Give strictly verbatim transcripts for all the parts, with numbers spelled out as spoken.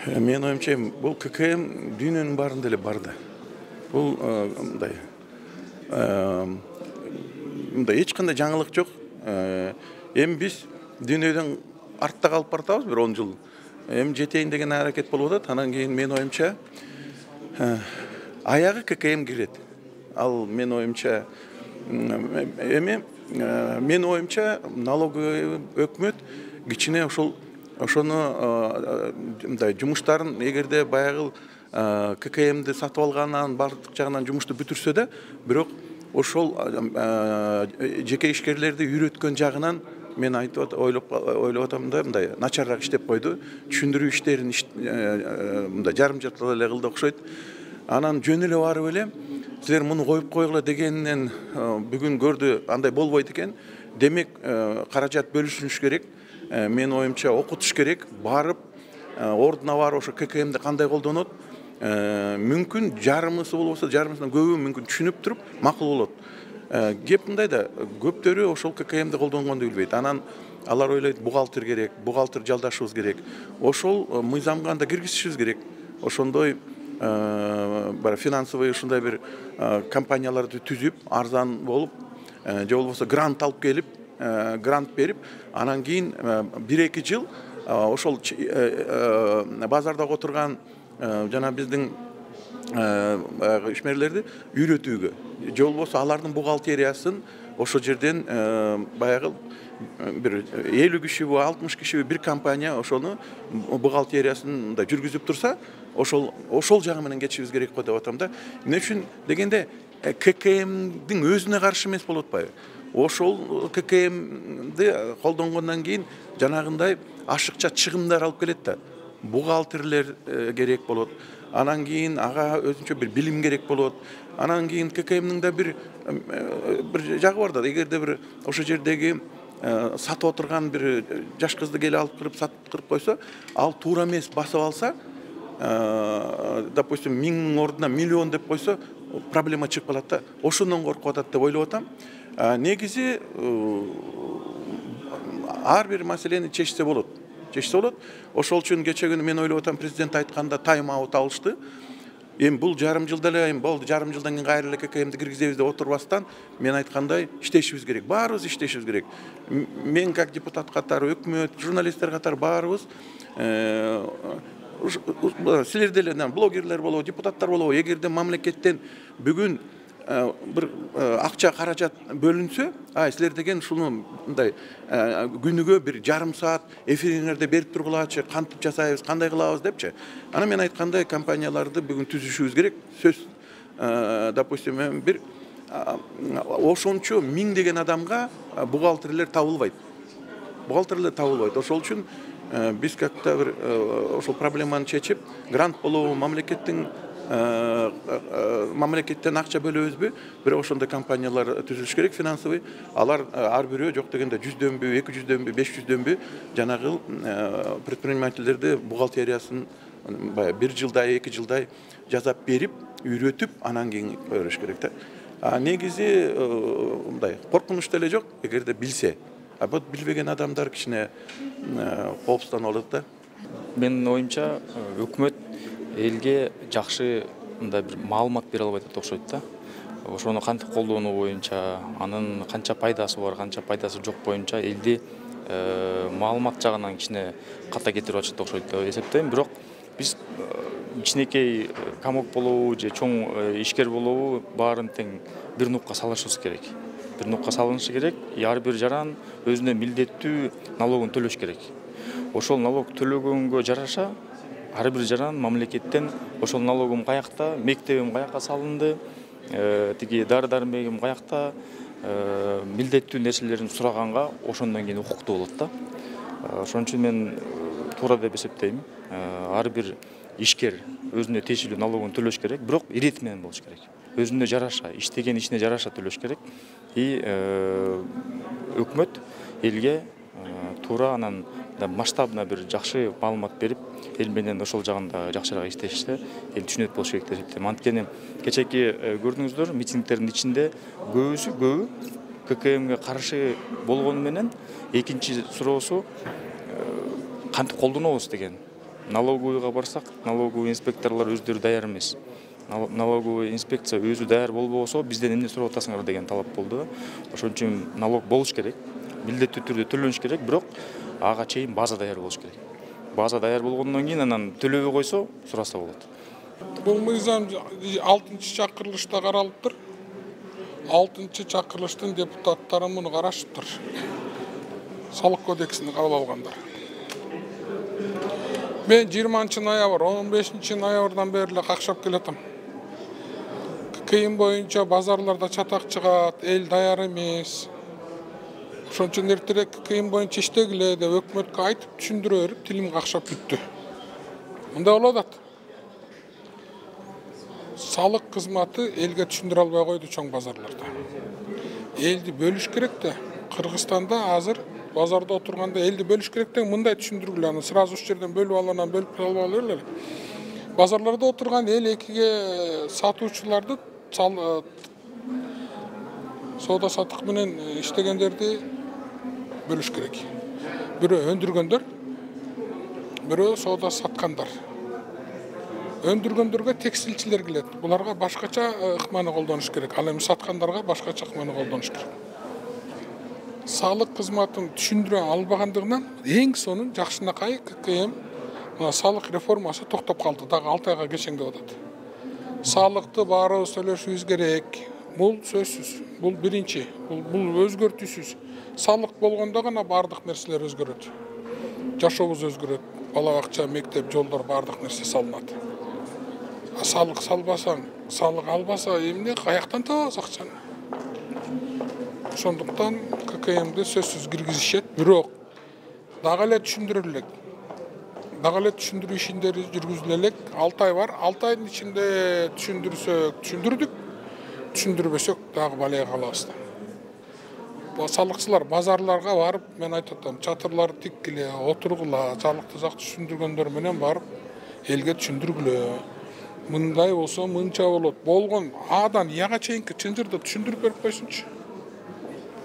Менин оюмча бул ККМ дүйнөнүн баарында эле бар да. Бул мындай мындай эч кандай жаңылык жок. Эми биз дүйнөдөн артта калып баратабыз бир он жыл. Эми жетейин деген аракет болуп атат. Анан кийин менин оюмча аягы ККМ кирет. Ал менин оюмча эми менин оюмча налоговый өкмөт кичине ошол ошону мындай жумуштарын эгерде баягы ККМди сатып алгандан бардык жагынан жумушту бүтүрсө да, бирок ошол жеке ишкерлерди үйрөткөн жагынан мен айтып ойлоп ойлоп атам да, мындай начарраак иштеп койду. Түшүндүрүү иштерин мындай жарым жартылай эле кылды окшойт. Анан жөн эле барып эле силер муну коюп койгула дегенинен бүгүн көрдү андай болбойт экен. Демек каражат бөлүшүш керек. Менин оюмча окутуш керек. Барып ордуна барып ошо ККМди кандай колдонот, мүмкүн жарымысы болбосо жарымысынан көбү мүмкүн түшүнүп туруп макул болот. Кеп мындай да, көптөрү ошол ККМди колдонгонду билбейт. Анан алар ойлойт бухгалтер керек, бухгалтер жалдашыбыз керек. Ошол мыйзамга анда киргизишибиз керек. Ошондой бара финансовый ушундай бир компанияларды түзүп, арзан болуп, же болбосо грант алып келип, грант берип, анан кийин бир эки жыл ошол базарда отурган жана биздин ишмерлерди үйрөтүүгө, же болбосо алардын бухгалтериясын ошо жерден баягы бир элүү кишиби, алтымыш кишиби бир компания ошону бухгалтериясын мындай жүргүзүп турса, ошол ошол жагы менен кетишибиз керек го деп атам да. Эмне үчүн дегенде ККМдин өзүнө каршы эмес болуп атпайбы? Ошол ККМди колдонгондон кийин жанагындай ашыкча чыгымдар алып келет да. Бухгалтерлер керек болот. Анан кийин ага өзүнчө бир билим керек болот. Анан кийин ККМдин да бир бир жагы бар да. Эгерде бир ошо жердеги сатып отурган бир жаш кызды келип алып кырып сатып кырып койсо, ал туура эмес басып алса, допустим, миңнин ордуна миллион деп койсо, проблема чыгып калат да. Ошондон коркуп атат деп ойлоп атам. Негизи ар бир маселени чечсе болот. Чечсе болот. Ошол үчүн кече күнү мен ойлоп атам, президент айтканда тайм аут алышты. Эми бул жарым жылда эле, эми болду, жарым жылдан кийин кайра эле ККМди киргизебиз деп отурбастан, мен айткандай иштешибиз керек. Баарыбыз иштешибиз керек. Мен как депутат катары, өкмөт, журналисттер катары баарыбыз силер деле блогерлер болобу, депутаттар болобу, эгерде мамлекеттен бүгүн бир акча каражат бөлүнсө, ай силер деген ушуну мындай күнүгө бир жарым саат эфириңерде берип тургулачы, кантип жасайбыз, кандай кылабыз депчи. Анан мен айткандай компанияларды бүгүн түзүшүбүз керек. Сөз, допустим, бир ошончо миң деген адамга бухгалтерлер табылбайт. Бухгалтерлер табылбайт. Ошол үчүн биз как-то бир ошол проблеманы чечип, грант болобу, мамлекеттин мамлекеттен акча бөлөбүзбү, бирок ошондой компаниялар түзүлүш керек, финансовый. Алар ар бирөө жок дегенде жүздөнбү, эки жүздөнбү, беш жүздөнбү жанагы предпринимательдерди бухгалтериясын бир жылдай, эки жылдай жасап берип, үйрөтүп, анан кийин көрүш керек да. Негизи мындай коркунуч деле жок, эгерде билсе. А бут билбеген адамдар кичине коопсузданып алат да. Менин оюмча, өкмөт элге жакшы мындай бир маалымат бере албайт деп окшойт да. Ошону кантип колдонуу боюнча, анын канча пайдасы бар, канча пайдасы жок боюнча элди маалымат жагынан кичине ката кетирип атышат деп окшойт деп эсептейм. Бирок биз кичинекей комок болобу же чоң ишкер болобу, баарын тең бир нукка салышыбыз керек. Бир нукка салынышы керек. Ар бир жаран өзүнө милдеттүү налогун төлөш керек. Ошол налог төлөгөнгө жараша ар бир жаран мамлекеттен ошол налогум каякта, мектебим каякка салынды, тиги дары-дармегим каякта, милдеттүү нерселерин сураганга ошондон кийин укуктуу болот да. Ошон үчүн мен туура деп эсептейм. Ар бир ишкер өзүнө тиешелүү налогун төлөш керек, бирок ирет менен болуш керек. Өзүнө жараша, иштеген ишине жараша төлөш керек. И өкмөт элге туура анан масштабына бир жакшы маалымат берип, эл менен ошол жагында жакшыраак иштешсе, эл түшүнөт болуш керек деп эсептейм. Анткени кечеки көрдүңүздөр, митингдердин ичинде көбүсү көбү ККМге каршы болгону менен экинчи суроосу кантип колдонобуз деген налоговыйга барсак, налоговый инспекторлор өздөрү даяр эмес. Налоговый инспекция өзү даяр болбосо бизден эмне сурап атасыңар деген талап болду. Ошон үчүн налог болуш керек, милдеттүү түрдө төлөнүш керек, бирок ага чейин база даяр болуш керек. База даяр болгондон кийин анан төлөбөй койсо сураса болот. Бул мыйзам алтынчы чакырылышта каралыптыр. алтынчы чакырылыштын депутаттары муну карашыптыр. Салык кодексин кабыл алгандар. Мен жыйырманчы ноябрь, он бешинчи ноябрдан бери эле какшап келатам. Кыйын боюнча базарларда чатак чыгат, эл даяр эмес. Ошон үчүн эртерээк кыйын боюнча иштегиле деп өкмөткө айтып түшүндүрө берип, тилим какшап бүттү. Мындай болуп атат. Салык кызматы элге түшүндүрө албай койду чоң базарларда. Элди бөлүш керек да. Кыргызстанда азыр базарда отурганда элди бөлүш керек деген мындай түшүндүргүлө, аны сразу ушул жерден бөлүп алып, бөлүп алып эле. Базарларда отурган эл экиге сатуучуларды, соода саттык менен иштегендерди бөлүш керек. Бирөө өндүргөндөр, бирөө соода саткандар. Өндүргөндөргө текстилчилер келет. Буларга башкача ыкманы колдонуш керек. Ал эми саткандарга башкача ыкманы колдонуш керек. Салык кызматын түшүндүрө албагандыгынан эң сонун жакшынакай ККМ мына салык реформасы токтоп калды. Дагы алты айга кечең деп атат. Салыкты баарыбыз төлөшүбүз керек. Бул сөзсүз. Бул биринчи. Бул бул өзгөртүүсүз. Салык болгондо гана бардык нерселер өзгөрөт. Жашообуз өзгөрөт. Бала бакча, мектеп, жолдор бардык нерсе салынат. Салык салбасаң, салык албаса эмне каяктан табабыз акчаны? Ошондуктан ККМди сөзсүз киргизишет, бирок дагы эле түшүндүрө элек. Дагы эле түшүндүрүү ишиндери жүргүзүлө элек. алты ай бар. алты айдын ичинде түшүндүрсөк, түшүндүрдүк. Түшүндүрбөсөк дагы балайга калабыз. Салыкчылар базарларга барып, мен айтып атам, чатырларды тиккиле, отургула, салыкты жакшы түшүндүргөндөр менен барып элге түшүндүргүлө. Мындай болсо мынча болот. Болгон Адан Яга чейинки чынжырды түшүндүрүп берип койсунчу.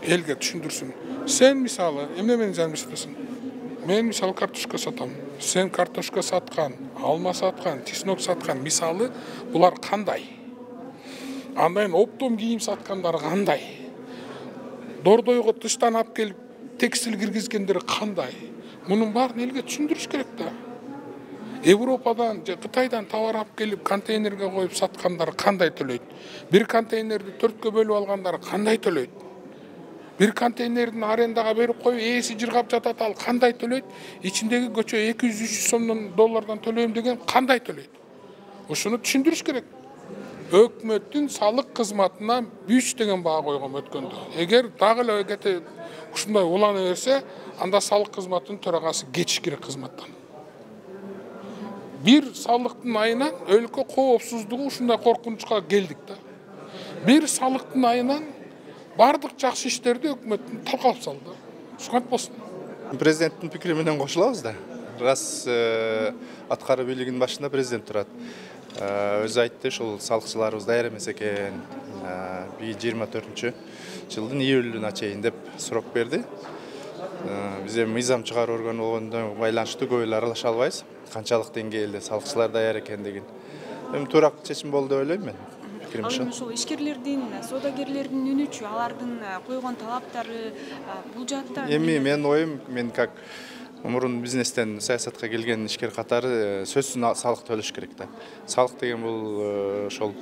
Элге түшүндүрсүн. Сен мисалы эмне менен жаңылышып атасың? Мен мисалы картошка сатам. Сен картошка саткан, алма саткан, чеснок саткан, мисалы булар кандай? Андан оптом кийим саткандар кандай? Дордойго тыштан алып келип текстил киргизгендер кандай? Мунун баарын элге түшүндүрүш керек да. Европадан же Кытайдан товар алып келип контейнерге коюп саткандар кандай төлөйт? Бир контейнерди төрткө бөлүп алгандар кандай төлөйт? Бир контейнердин арендага берип коюп, ээси жыргап жатат, ал кандай төлөйт? Ичиндеги көчө эки жүз үч жүз сомдон доллардан төлөйм деген кандай төлөйт? Ошону түшүндүрүш керек. Өкмөттүн салык кызматына үч деген баа койгон өткөндө. Эгер дагы эле кете ушундай улана берсе, анда салык кызматынын төрагасы кетиш керек кызматтан. Бир салыктын айынан өлкө коопсуздугу ушундай коркунучка келдик да. Бир салыктын айынан бардык жакшы иштерди өкмөттүн талкалап салды. Ушунат болсун. Президенттин пикири менен кошулабыз да. Раз аткаруу бийлигинин башында президент турат. Өзү айтты, ушул салыкчыларыбыз даяр эмес экен. жыйырма төртүнчү жылдын июлуна чейин деп сурап берди. Биз эми мыйзам чыгаруу органы болгондон байланыштуу көп эле аралаша албайбыз. Канчалык деңгээлде салыкчылар даяр экендигин. Эми туура чечим болду деп ойлойм мен. Ал эми ушул ишкерлердин, соодагерлердин үнүчү, алардын койгон талаптары бул жаатта эми менин оюм, мен как мурун бизнестен саясатка келген ишкер катары сөзсүз салык төлөш керек да. Салык деген бул ошол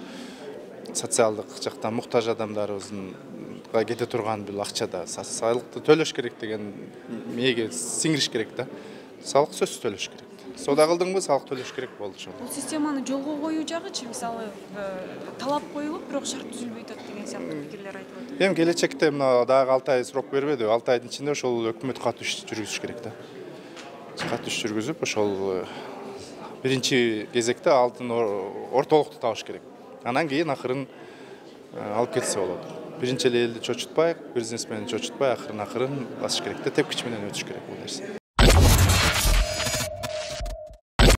социалдык жактан муктаж адамдарыбызга кете турган бул акча да. Салыкты төлөш керек деген мээге сиңириш керек да. Салык сөзсүз төлөш керек. Соода кылдыңбы, салык төлөш керек болду ошол. Бул системаны жолго коюу жагычы, мисалы, талап коюлуп, бирок шарт түзүлбөй атат деген сыяктуу пикирлер айтылып атат. Эми келечекте мына дагы алты ай срок бербеди. алты айдын ичинде ошол өкмөт катуу иш жүргүзүш керек да. Катуу иш жүргүзүп, ошол биринчи кезекте алдын ортолукту табыш керек. Анан кийин акырын алып кетсе болот. Биринчи эле элди чочутпай, бизнесмени чочутпай, акырын акырын басыш керек да, тепкич менен өтүш керек бул нерсе.